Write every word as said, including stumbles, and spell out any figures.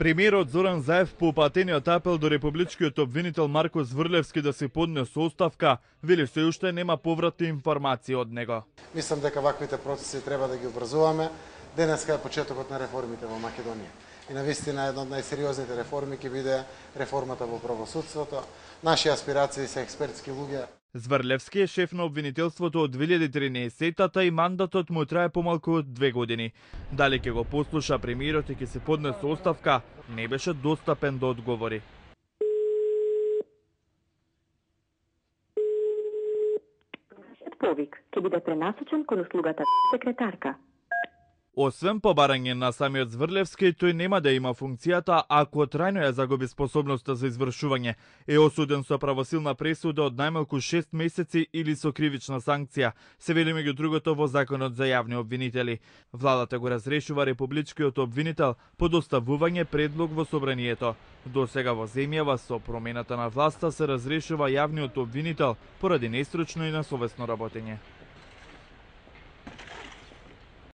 Премиерот Зоран Заев по упатениот апел до републичкиот обвинител Марко Зврлевски да се поднесе оставка, вели се уште нема повратни информации од него. Мислам дека ваквите процеси треба да ги обрзуваме. Денеска е почетокот на реформите во Македонија. И навистина една од најсериозните реформи ќе биде реформата во правосудството. Наши аспирации се експертски луѓе. Зврлевски е шеф на обвинителството од две илјади и тринаесетта и мандатот му трае помалку од две години. Дали ќе го послуша премиерот и ќе се поднесе оставка, не беше достапен да одговори. Повик ќе биде пренасочен кон услугата секретарка. Освен побарање на самиот Зврлевски, тој нема да има функцијата ако трајно ја загуби способноста за извршување. Е осуден со правосилна пресуда од најмалку шест месеци или со кривична санкција, се вели меѓу другото во Законот за јавни обвинители. Владата го разрешува републичкиот обвинител по доставување предлог во собранието. До сега во земјава со промената на власта се разрешува јавниот обвинител поради нестручно и несовесно работење.